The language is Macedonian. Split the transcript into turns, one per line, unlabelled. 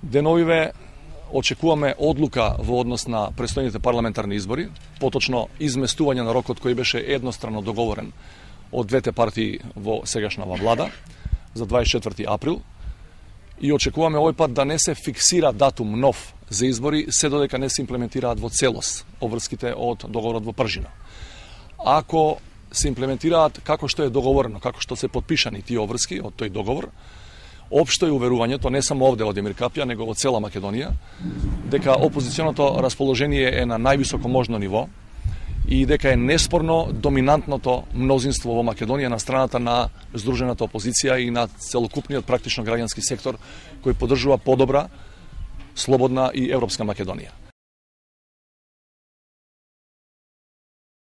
Деновиве очекуваме одлука во однос на престојните парламентарни избори, поточно изместување на рокот кој беше едностранно договорен од двете партии во сегашнава влада за 24 април и очекуваме овој пат да не се фиксира датум нов за избори, се додека не се имплементираат во целост обврските од договорот во Пржина. Ако се имплементираат како што е договорено, како што се подпишани тие обврски од тој договор, општо е уверувањето, не само овде од Емир Капија, него во цела Македонија, дека опозиционото расположение е на највисоко можно ниво и дека е неспорно доминантното мнозинство во Македонија на страната на здружената опозиција и на целокупниот практично граѓански сектор кој поддржува подобра, слободна и европска Македонија.